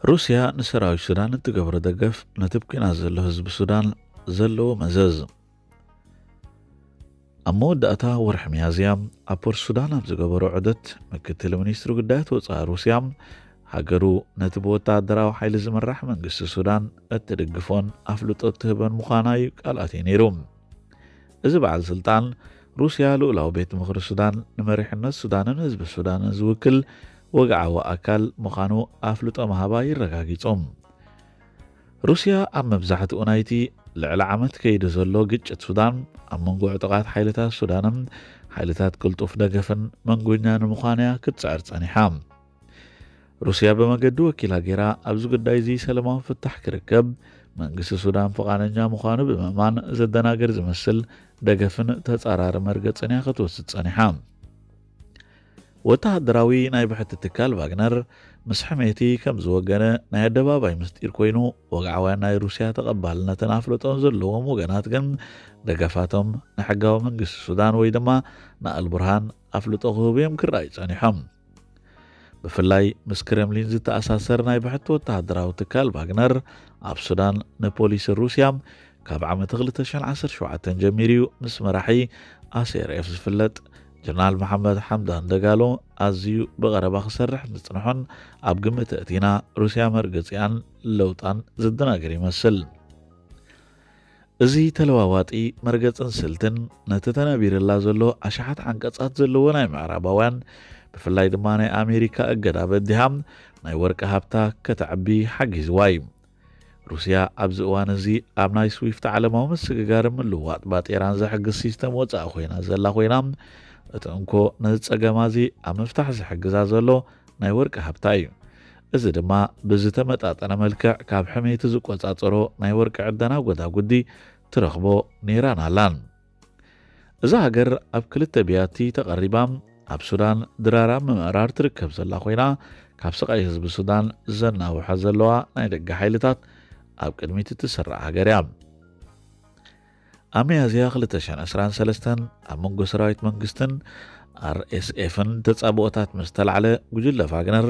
ሩስያ ንሰራዊት ሱዳን እትገብሮ ደገፍ ነቲ ኣብ ኲናት ዘሎ ህዝቢ ሱዳን ዘለዎ መዘዝ። ኣብ መወዳእታ ወርሒ ሚያዝያ ኣብ ፖርት ሱዳን ኣብ ዝገበሮ ዑደት፣ ምክትል ሚኒስትሪ ጉዳያት ወጻኢ ሩስያ፣ ሃገሩ ነቲ ብወታደራዊ ሓይሊ ዝምራሕ መንግስቲ ሱዳን እትድግፎን ኣፍልጦ እትህበን ምዃና እዩ ቃል ኣትዩ ነይሩ። እዚ በዓል ስልጣን፣ ሩስያ ልኡላዊ ቤት ምኽሪ ሱዳን ንመሪሕነት ሱዳንን ህዝቢ ሱዳንን ዝውክል ወግዓዊ ኣካል ምዃኑ ኣፍልጦ ምሃባ ይረጋጊጹ። ሩስያ ኣብ መብዛሕትኡ ናይቲ ልዕሊ ዓመት ከይዱ ዘሎ ግጭት ሱዳን፣ ኣብ መንጎ ዕጡቓት ሓይልታት ሱዳንን ሓይልታት ቅልጡፍ ደገፍን መንጎኛ ንምዃን እያ ክትጽዕር ጸኒሓ። ሩስያ ብመገዲ ወኪላ ገይራ ኣብዚ ጉዳይ እዚ ሰላማዊ ፍታሕ ክርከብ መንግስቲ ሱዳን ፍቓደኛ ምዃኑ ብምእማን፣ ዘደናግር ዝመስል ደገፍን ተጻራሪ መርገጽን እያ ክትወስድ ጸኒሓ። ወተሃደራዊ ናይ ብሕቲ ትካል ቫግነር ምስ ሕሜቲ ከም ዝወገነ ናይ ኣደባባይ ምስጢር ኮይኑ፣ ወግዓውያን ናይ ሩስያ ተቐባልነትን ኣፍልጦን ዘለዎም ወገናት ግን ደገፋቶም ንሕጋዊ መንግስቲ ሱዳን ወይ ድማ ንኣልቡርሃን ኣፍልጦ ክህቡ እዮም ክረኣዩ ጸኒሖም። ብፍላይ ምስ ክረምሊን ዝተኣሳሰር ናይ ብሕቲ ወተሃደራዊ ትካል ቫግነር ኣብ ሱዳን ንፖሊሲ ሩስያ ካብ ዓመት ክልተ ሽሕን ዓሰርተ ሸውዓተን ጀሚሩ እዩ ምስ መራሒ ኣስኤርኤፍ ዝፍለጥ ጀነራል መሓመድ ሓምዳን ደጋሎ ኣዝዩ ብቐረባ ክሰርሕ ምጽንሖን ኣብ ግምት ኣእቲና ሩስያ መርገጺኣን ለውጣን ዘደናግር ይመስል። እዚ ተለዋዋጢ መርገጽን ስልትን ነቲ ተነቢርላ ዘሎ ኣሽሓት ዓንቀጻት ዘለዎ ናይ ምዕራባውያን፣ ብፍላይ ድማ ናይ ኣሜሪካ እገዳ በዲሃ ናይ ወርቂ ሃብታ ከተዕቢ ሓጊዝዋ እዩ። ሩስያ ኣብዚ እዋን እዚ ኣብ ናይ ስዊፍት ዓለማዊ ምስግጋር ምልውዋጥ ባጤራን ዝሕግዝ ሲስተም ወጻኢ ኮይና ዘላ ኮይና፣ እቲ እንኮ ነዚ ጸገማ እዚ ኣብ ምፍታሕ ዝሕግዛ ዘሎ ናይ ወርቂ ሃብታ እዩ። እዚ ድማ ብዝተመጣጠነ መልክዕ ካብ ሕሜቲ ዝቆጻጸሮ ናይ ወርቂ ዕደና ጎዳጉዲ ትረኽቦ ነይራን ኣላን። እዛ ሃገር ኣብ ክልተ ብያቲ ተቐሪባ ኣብ ሱዳን ድራራ ምምእራር ትርከብ ዘላ ኮይና፣ ካብ ስቓይ ህዝቢ ሱዳን ዘናውሐ ዘለዋ ናይ ደገ ሓይልታት ኣብ ቅድሚት እትስራዕ ሃገር እያ። ኣብ ሚያዝያ ክልተ ሽሕን ዕስራን ሰለስተን ኣብ መንጎ ሰራዊት መንግስትን ኣር ኤስ ኤፍን ተጻብኦታት ምስ ተላዕለ፣ ጉጅለ ቫግነር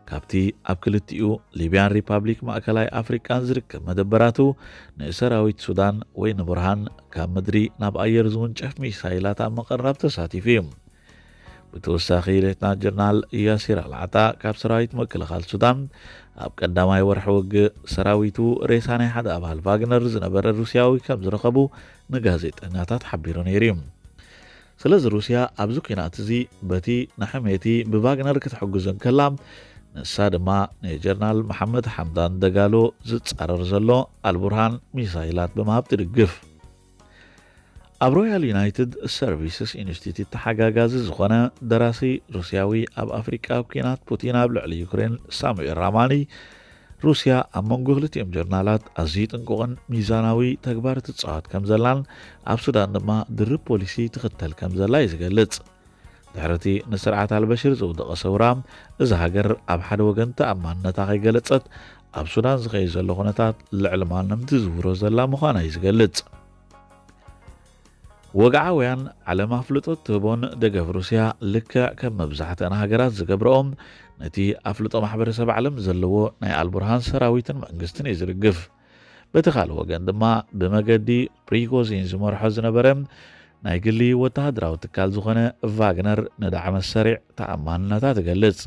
ካብቲ ኣብ ክልቲኡ ሊብያን ሪፓብሊክ ማእከላይ ኣፍሪቃን ዝርከብ መደበራቱ ንሰራዊት ሱዳን ወይ ንቡርሃን ካብ ምድሪ ናብ ኣየር ዝውንጨፍ ሚሳይላት ኣብ ምቕራብ ተሳቲፉ እዩ። ብተወሳኺ ሌትናንት ጀነራል ያሲር ኣልዓጣ ካብ ሰራዊት ምክልኻል ሱዳን ኣብ ቀዳማይ ወርሒ ውግእ ሰራዊቱ ሬሳ ናይ ሓደ ኣባል ቫግነር ዝነበረ ሩስያዊ ከም ዝረኸቡ ንጋዜጠኛታት ሓቢሩ ነይሩ እዩ። ስለዚ ሩስያ ኣብዚ ኲናት እዚ በቲ ንሕሜቲ ብቫግነር ክትሕግዞ እንከላ፣ ንሳ ድማ ንጀነራል መሓመድ ሓምዳን ደጋሎ ዝጻረር ዘሎ ኣልቡርሃን ሚሳይላት ብምሃብ ትድግፍ። ኣብ ሮያል ዩናይትድ ሰርቪስስ ኢንስቲትዩት ተሓጋጋዚ ዝኾነ ደራሲ ሩስያዊ፣ ኣብ ኣፍሪቃ ኣብ ኲናት ፑቲን ኣብ ልዕሊ ዩክሬን ሳሙኤል ራማኒ፣ ሩስያ ኣብ መንጎ ክልቲኦም ጀርናላት ኣዝዩ ጥንቁቕን ሚዛናዊ ተግባር ትጻወት ከም ዘላን ኣብ ሱዳን ድማ ድርብ ፖሊሲ ትኽተል ከም ዘላ እዩ ዝገልጽ። ድሕሪ እቲ ንስርዓት ኣልበሽር ዝውደቐ ሰውራ፣ እዛ ሃገር ኣብ ሓደ ወገን ተኣማንነታ ከይገለጸት፣ ኣብ ሱዳን ዝኸይድ ዘሎ ኩነታት ልዕሊ ማንም ትዝውሮ ዘላ ምዃና እዩ ዝገልጽ። ወግዓውያን ዓለም ኣፍልጦ ትህቦን ደገፍ ሩስያ ልክዕ ከም መብዛሕትአን ሃገራት ዝገብረኦም፣ ነቲ ኣፍልጦ ማሕበረሰብ ዓለም ዘለዎ ናይ ኣልቡርሃን ሰራዊትን መንግስትን እዩ ዝድግፍ። በቲ ካልእ ወገን ድማ ብመገዲ ፕሪጎዚን ዝመርሖ ዝነበረ ናይ ግሊ ወተሃደራዊ ትካል ዝኾነ ቫግነር ንዳዕመ ሰሪዕ ተኣማንነታ ትገልጽ።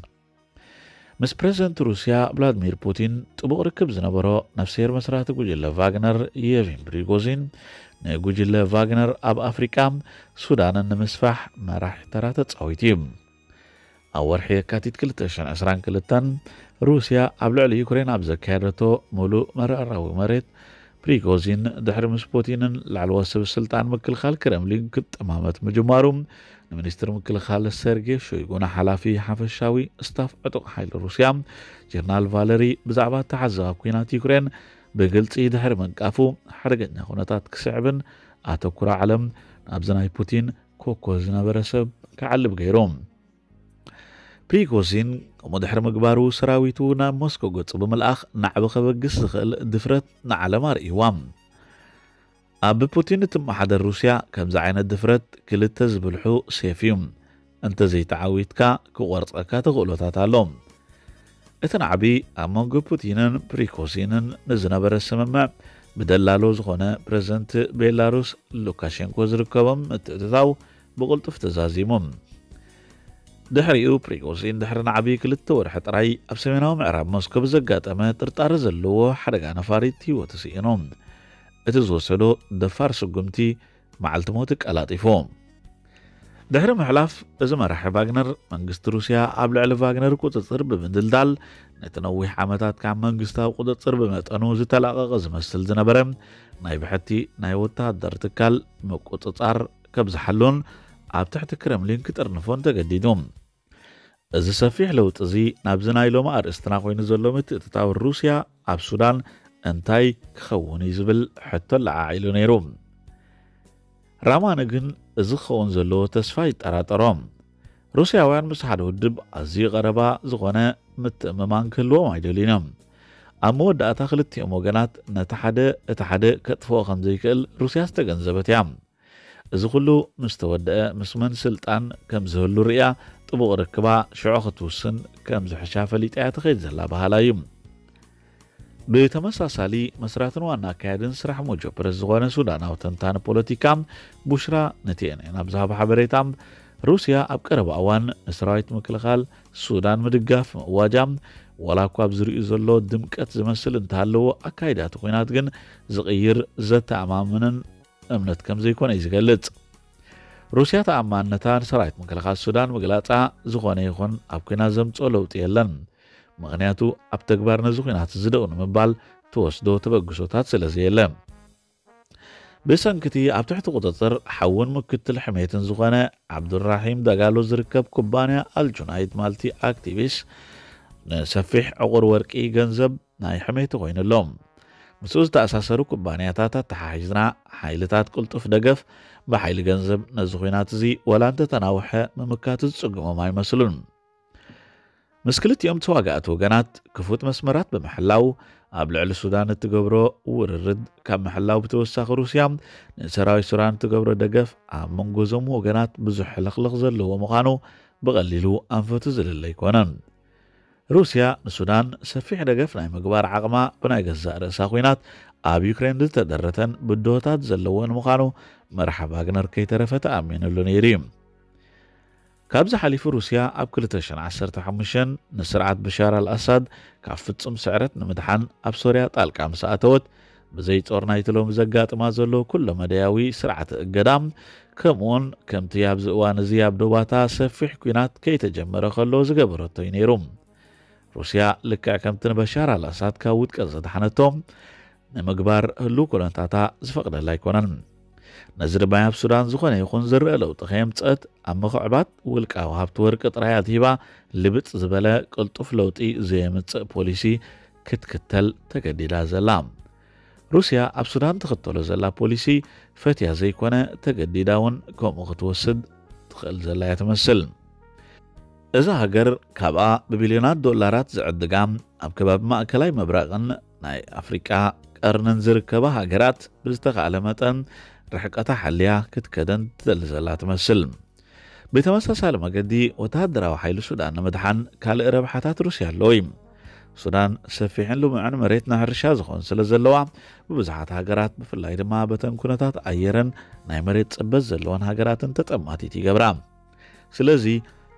ምስ ፕረዚደንት ሩስያ ቭላድሚር ፑቲን ጥቡቕ ርክብ ዝነበሮ ነፍስሄር መስራቲ ጉጅለ ቫግነር የቪን ፕሪጎዚን፣ ንጉጅለ ቫግነር ኣብ ኣፍሪቃ ሱዳንን ንምስፋሕ መራሒ ተራ ተጻዊቱ እዩ። ኣብ ወርሒ የካቲት ክልተ ሽሕን ዕስራን ክልተን ሩስያ ኣብ ልዕሊ ዩክሬን ኣብ ዘካየደቶ ምሉእ መረራዊ መሬት፣ ፕሪጎዚን ድሕሪ ምስ ፑቲንን ላዕለዎት ሰብ ስልጣን ምክልኻል ክረምሊን ክጠማመት ምጅማሩ፣ ንሚኒስትር ምክልኻል ሰርጌ ሾይጉ፣ ንሓላፊ ሓፈሻዊ ስታፍ ዕጡቕ ሓይሊ ሩስያ ጀነራል ቫለሪ ብዛዕባ ተሓዛቢ ኲናት ዩክሬን ብግልጺ ድሕሪ ምንቃፉ፣ ሓደገኛ ኩነታት ክስዕብን ኣተኩሮ ዓለም ናብዚ ናይ ፑቲን ኮኮ ዝነበረ ሰብ ክዓልብ ገይሩ። ፕሪጎዚን ከምኡ ድሕሪ ምግባሩ፣ ሰራዊቱ ናብ ሞስኮ ገጹ ብምልኣኽ ናዕቢ ከበግስ ዝኽእል ድፍረት ንዓለም ኣርእይዋ። ኣብ ፑቲን እትመሓደር ሩስያ ከምዚ ዓይነት ድፍረት ክልተ ዝብልሑ ሴፍ እዩ። እንተዘይተዓዊትካ ክቖርጸካ ተኽእሎታት ኣሎ። እቲ ናዕቢ ኣብ መንጎ ፑቲንን ፕሪኮሲንን ንዝነበረ ስምምዕ ብደላሎ ዝኾነ ፕረዚደንት ቤላሩስ ሉካሼንኮ ዝርከቦም ምትእትታው ብቕልጡፍ ተዛዚሙ። ድሕሪኡ ፕሪጎዚን ድሕሪ ናዕቢ ክልተ ወርሒ ጥራይ ኣብ ሰሜናዊ ምዕራብ ሞስኮ ብዘጋጠመ ጥርጣረ ዘለዎ ሓደጋ ነፋሪት ህይወቱ ስኢኑ። እቲ ዝወሰዶ ደፋር ስጉምቲ መዓልቲ ሞት ቀላጢፉ። ድሕሪ ምሕላፍ እዚ መራሒ ቫግነር መንግስቲ ሩስያ ኣብ ልዕሊ ቫግነር ቁፅፅር ብምድልዳል ነቲ ነዊሕ ዓመታት ካብ መንግስታዊ ቁፅፅር ብመጠኑ ዝተላቐቐ ዝመስል ዝነበረ ናይ ብሕቲ ናይ ወታደር ትካል ምቁፅፃር ከብዝሓሉን ኣብ ትሕቲ ክረምሊን ክጥርንፎን ተገዲዱ። እዚ ሰፊሕ ለውጢ እዚ ናብዚ ናይ ሎሚ ኣርእስትና ኮይኑ ዘሎ ምትእትታው ሩስያ ኣብ ሱዳን እንታይ ክኸውን እዩ ዝብል ሕቶ ለዓዒሉ ነይሩ። ራማኒ ግን እዚ ክኸውን ዘለዎ ተስፋ ይጠራጠሮ። ሩስያውያን ምስ ሓደ ውድብ ኣዝዩ ቀረባ ዝኾነ ምትእምማን ክህልዎም ኣይደልዩን እዮም። ኣብ መወዳእታ ክልቲኦም ወገናት ነቲ ሓደ እቲ ሓደ ከጥፍኦ ከም ዘይክእል ሩስያ ዝተገንዘበት እያ። እዚ ኩሉ ምስ ተወደአ ምስ መን ስልጣን ከም ዝህሉ ርእያ ጥቡቕ ርክባ ሽዑ ክትውስን ከም ዝሕሻ ፈሊጣ እያ ትኸይድ ዘላ በሃላ እዩ። ብተመሳሳሊ መስራትን ዋና ኣካያድን ስራሕ ሞጆ ፕረስ ዝኾነ ሱዳናዊ ተንታኒ ፖለቲካ ቡሽራ ነቲኤንኤን ኣብ ዝሃቦ ሓበሬታ ሩስያ ኣብ ቀረባ እዋን ንሰራዊት ምክልኻል ሱዳን ምድጋፍ ምእዋጃ ዋላ እኳ ኣብ ዝርእዩ ዘሎ ድምቀት ዝመስል እንተሃለዎ ኣካይዳ እቲ ኲናት ግን ዝቕይር ዘተኣማምንን እምነት ከም ዘይኮነ እዩ ዝገልጽ። ሩስያ ተኣማንነታ ንሰራዊት ምክልኻል ሱዳን ምግላጻ ዝኾነ ይኹን ኣብ ኲናት ዘምጽኦ ለውጢ የለን። ምኽንያቱ ኣብ ተግባር ነዚ ኲናት እዚ ደው ንምባል ትወስዶ ተበግሶታት ስለ ዘየለ። ብሰንክቲ ኣብ ትሕቲ ቁጽጽር ሓውን ምክትል ሕሜትን ዝኾነ ዓብዱራሒም ደጋሎ ዝርከብ ኩባንያ ኣልጁናይድ ማልቲ ኣክቲቪስ ንሰፊሕ ዕቑር ወርቂ ገንዘብ ናይ ሕሜቲ ኮይኑ ኣሎ። ምስኡ ዝተኣሳሰሩ ኩባንያታት ኣተሓሒዝና ሓይልታት ቅልጡፍ ደገፍ ብሓይሊ ገንዘብ ነዚ ኲናት እዚ ወላ እንተተናውሐ ምምካት ዝጽግሞም ኣይመስሉን። ምስ ክልቲኦም ተዋጋእቲ ወገናት ክፉት መስመራት ብምሕላው ኣብ ልዕሊ ሱዳን እትገብሮ ውርርድ ካብ ምሕላው ብተወሳኺ ሩስያ ንሰራዊት ሱዳን እትገብሮ ደገፍ ኣብ መንጎ እዞም ወገናት ብዙሕ ሕልኽልኽ ዘለዎ ምዃኑ ብቐሊሉ ኣንፈቱ ዝልለ ኣይኮነን። ሩስያ ንሱዳን ሰፊሕ ደገፍ ናይ ምግባር ዓቕማ ብናይ ገዛእ ርእሳ ኲናት ኣብ ዩክሬን ዝተደረተን ብድሆታት ዘለዎን ምዃኑ መርሓ ቫግነር ከይተረፈ ተኣሚኑሉ ነይሩ እዩ። ካብዚ ሓሊፉ ሩስያ ኣብ ክልተ ሽሕን ዓሰርተ ሓሙሽተን ንስርዓት በሻር ኣልኣሳድ ካብ ፍጹም ስዕረት ንምድሓን ኣብ ሶርያ ጣልቃ ምስ ኣተወት ብዘይ ጾር ናይቲ ሎሚ ዘጋጥማ ዘሎ ኩሎ መዳያዊ ስርዓተ እገዳ ከምኡውን ከምቲ ኣብዚ እዋን እዚ ኣብ ዶባታ ሰፊሕ ኲናት ከይተጀመረ ከሎ ዝገበረቶ እዩ ነይሩ። ሩስያ ልክዕ ከምቲ ንበሻር ኣልኣሳድ ካብ ውድቀት ዘድሓነቶ ንምግባር ህሉው ኩነታታ ዝፈቕደላ ኣይኮነን። ነዚ ድማ ኣብ ሱዳን ዝኾነ ይኹን ዝረአ ለውጢ ከየምፀት ኣብ ምኽዕባት ውልቃዊ ሃብቲ ወርቂ ጥራይ ኣትሂባ ልብጥ ዝበለ ቅልጡፍ ለውጢ ዘየምፅእ ፖሊሲ ክትክተል ተገዲዳ ዘላ። ሩስያ ኣብ ሱዳን ትኽተሎ ዘላ ፖሊሲ ፈትያ ዘይኮነ ተገዲዳ እውን ከምኡ ክትወስድ ትኽእል ዘላ እያ ትመስል። እዛ ሃገር ካብኣ ብቢልዮናት ዶላራት ዝዕድጋ ኣብ ከባቢ ማእከላይ ምብራቕን ናይ ኣፍሪቃ ቀርንን ዝርከባ ሃገራት ብዝተኻእለ መጠን ርሕቀታ ሓልያ ክትከደን ትደሊ ዘላ ትመስል። ብተመሳሳሊ መገዲ ወተሃደራዊ ሓይሊ ሱዳን ንምድሓን ካልእ ረብሓታት ሩስያ ኣለዎ እዩ። ሱዳን ሰፊሕን ልሙዕን መሬት ንሕርሻ ዝኾን ስለ ዘለዋ ብብዙሓት ሃገራት ብፍላይ ድማ በተን ኩነታት ኣየርን ናይ መሬት ጽበት ዘለወን ሃገራትን ተጠማቲት ይገብራ። ስለዚ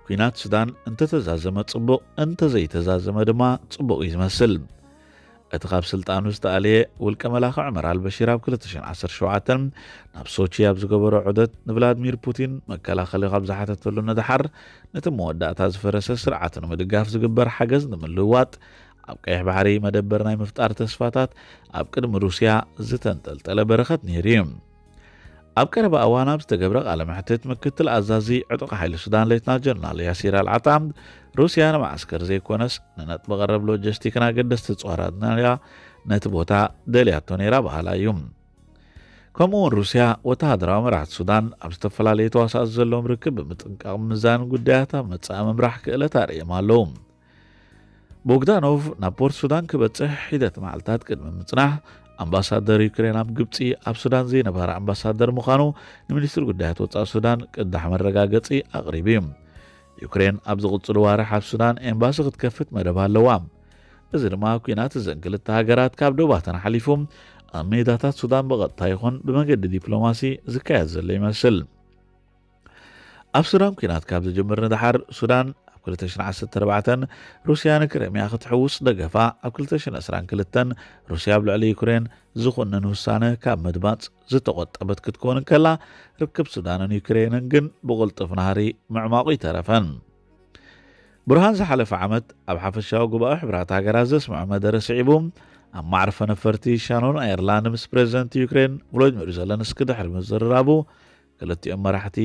ኲናት ሱዳን እንተተዛዘመ ጽቡቕ፣ እንተዘይተዛዘመ ድማ ጽቡቕ እዩ ዝመስል። እቲ ካብ ስልጣኑ ዝተኣልየ ውልቀ መላኺ ዑመር ኣልበሺር ኣብ ክልተ ሽሕን ዓሰርተ ሸውዓተን ናብ ሶቺ ኣብ ዝገበሮ ዑደት ንቭላድሚር ፑቲን መከላኸሊ ካብ ዝሓተተሉ ንደሓር ነቲ መወዳእታ ዝፈረሰ ስርዓት ንምድጋፍ ዝግበር ሓገዝ ንምልውዋጥ ኣብ ቀይሕ ባሕሪ መደበር ናይ ምፍጣር ተስፋታት ኣብ ቅድሚ ሩስያ ዝተንጠልጠለ በረኸት ነይሩ እዩ። ኣብ ቀረባ እዋን ኣብ ዝተገብረ ቃለ መሕትት ምክትል ኣዛዚ ዕጡቕ ሓይሊ ሱዳን ሌትና ጀነራል ያሲር ኣልዓጣ ሩስያ ንመዓስከር ዘይኮነስ ንነጥቢ ቀረብ ሎጂስቲክን ኣገደስቲ እፅዋራትን እያ ነቲ ቦታ ደልያቶ ነይራ በሃላ እዩ። ከምኡ እውን ሩስያ ወተሃደራዊ መራሕቲ ሱዳን ኣብ ዝተፈላለዩ ተዋሳእቲ ዘለዎም ርክብ ብምጥንቃቕ ምምዛን ጉዳያት ኣብ መጻኢ ምምራሕ ክእለት ኣርእዮም ኣለዉ። ቦግዳኖቭ ናብ ፖርት ሱዳን ክበጽሕ ሒደት መዓልታት ቅድሚ ምጽናሕ ኣምባሳደር ዩክሬን ኣብ ግብጺ ኣብ ሱዳን ዘይነበረ ኣምባሳደር ምዃኑ ንሚኒስትሪ ጉዳያት ወጻኢ ሱዳን ቅዳሕ መረጋገጺ ኣቕሪቡ እዩ። ዩክሬን ኣብ ዝቕጽሉ ዋርሕ ኣብ ሱዳን ኤምባሲ ክትከፍት መደብ ኣለዋ። እዚ ድማ ኲናት እዘን ክልተ ሃገራት ካብ ዶባተን ሓሊፉ ኣብ ሜዳታት ሱዳን ብቐጥታ ይኹን ብመገዲ ዲፕሎማሲ ዝካየድ ዘሎ ይመስል። ኣብ ሱዳን ኲናት ካብ ዝጅምር ንደሓር፣ ሱዳን ኣብ ክልተ ሽሕን ዓሰርተ ኣርባዕተን ሩስያ ንክሬምያ ክትሕውስ ደገፋ፣ ኣብ ክልተ ሽሕን ዕስራን ክልተን ሩስያ ኣብ ልዕሊ ዩክሬን ዝኹንን ውሳነ ካብ ምድማጽ ዝተቖጠበት ክትከውን እንከላ፣ ርክብ ሱዳንን ዩክሬንን ግን ብቕልጡፍ ናህሪ ምዕማቑ ይተረፈን። ብርሃን ዝሓለፈ ዓመት ኣብ ሓፈሻዊ ጉባኤ ሕብራት ሃገራት ዘስምዖ መደረ ስዒቡ፣ ኣብ ማዕርፈ ነፈርቲ ሻኖን ኣየርላንድ ምስ ፕሬዚደንት ዩክሬን ቮሎዲሚር ዘለንስኪ ድሕሪ ምዝርራቡ፣ ክልቲኦም መራሕቲ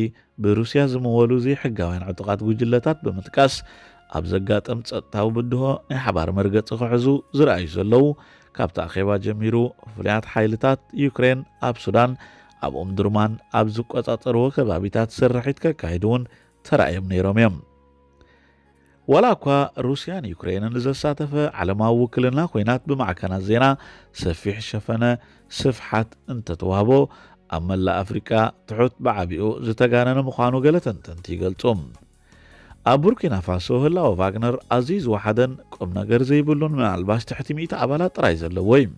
ብሩስያ ዝምወሉ ዘይሕጋውያን ዕጡቓት ጉጅለታት ብምጥቃስ፣ ኣብ ዘጋጠም ጸጥታዊ ብድሆ ናይ ሓባር መርገጺ ክሕዙ ዝረኣዩ ዘለዉ፣ ካብቲ ኣኼባ ጀሚሩ ፍሉያት ሓይልታት ዩክሬን ኣብ ሱዳን፣ ኣብ ኡምዱርማን ኣብ ዝቆጻጸርዎ ከባቢታት ስርሒት ከካይዱ እውን ተራእዮም ነይሮም እዮም። ዋላ እኳ ሩስያን ዩክሬንን ዘሳተፈ ዓለማዊ ውክልና ኲናት ብማዕከናት ዜና ሰፊሕ ሸፈነ ስፍሓት እንተተዋህቦ፣ ኣብ መላእ ኣፍሪቃ ትሑት ብዓቢኡ ዝተጋነነ ምዃኑ ገለ ተንተንቲ ይገልጹ። ኣብ ቡርኪና ፋሶ ህላወ ቫግነር ኣዝዩ ዝወሓደን ቁም ነገር ዘይብሉን፣ ምናልባሽ ትሕቲ ሚእቲ ኣባላት ጥራይ ዘለዎ እዩ።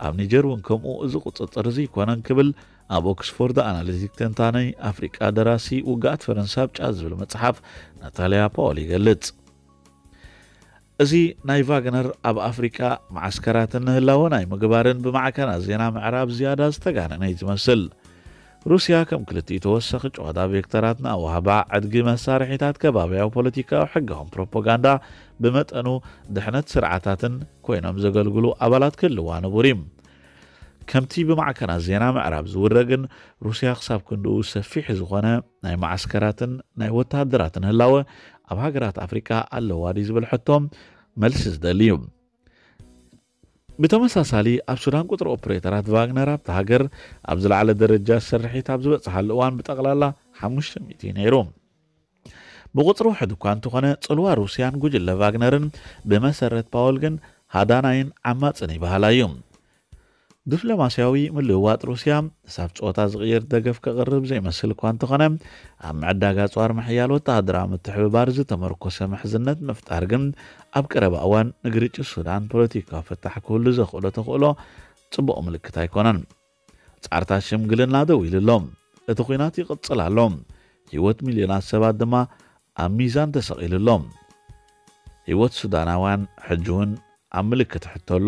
ኣብ ኒጀር እውን ከምኡ፣ እዚ ቁጽጽር እዚ ኣይኮነን ክብል ኣብ ኦክስፎርድ ኣናሊቲክ ተንታኒ ኣፍሪቃ ደራሲ ውግኣት ፈረንሳ ኣብ ጫ ዝብል መጽሓፍ ናታልያ ፓወል ይገልጽ። እዚ ናይ ቫግነር ኣብ ኣፍሪቃ መዓስከራትን ንህላወ ናይ ምግባርን ብማዕከናት ዜና ምዕራብ ዝያዳ ዝተጋነነ እዩ ዝመስል። ሩስያ ከም ክልቲኡ ተወሳኺ ጨዋታ ቬክተራት ንኣወሃባ ዕድጊ መሳርሒታት ከባብያዊ ፖለቲካዊ ሕጋውን ፕሮፓጋንዳ ብመጠኑ ድሕነት ስርዓታትን ኮይኖም ዘገልግሉ ኣባላት ክህልዋ ንቡር እዩ። ከምቲ ብማዕከናት ዜና ምዕራብ ዝውረ ግን፣ ሩስያ ክሳብ ክንድኡ ሰፊሕ ዝኾነ ናይ መዓስከራትን ናይ ወተሃደራትን ህላወ ኣብ ሃገራት ኣፍሪቃ ኣለዋ ድዩ ዝብል ሕቶ መልሲ ዝደሊ እዩ። ብተመሳሳሊ ኣብ ሱዳን ቁጽሪ ኦፕሬተራት ቫግነር ኣብቲ ሃገር ኣብ ዝለዓለ ደረጃ ስርሒት ኣብ ዝበጽሓሉ እዋን ብጠቕላላ ሓሙሽተ ሚእቲ እዩ ነይሩ። ብቁጽሪ ውሕድ እኳ እንተኾነ፣ ጽልዋ ሩስያን ጉጅለ ቫግነርን ብመሰረት ፓወል ግን ሃዳናይን ዓማጽን ይበሃላ እዩ። ዲፕሎማስያዊ ምልውዋጥ ሩስያ፣ ሳብ ጾታ ዝቕይር ደገፍ ከቕርብ ዘይመስል እኳ እንተኾነ፣ ኣብ ምዕዳግ ኣጽዋር ምሕያል ወተሃደራዊ ምትሕብባር ዝተመርኮሰ ምሕዝነት ምፍጣር ግን ኣብ ቀረባ እዋን ንግርጭት ሱዳን ፖለቲካዊ ፍታሕ ክህሉ ዘኽእሎ ተኽእሎ ጽቡቕ ምልክት ኣይኮነን። ጻዕርታት ሽምግልና ደው ኢሉ ኣሎ። እቲ ኲናት ይቕጽል ኣሎ። ህይወት ሚልዮናት ሰባት ድማ ኣብ ሚዛን ተሰቒሉ ኣሎ። ህይወት ሱዳናውያን ሕጂ እውን ኣብ ምልክት ሕቶ ኣሎ።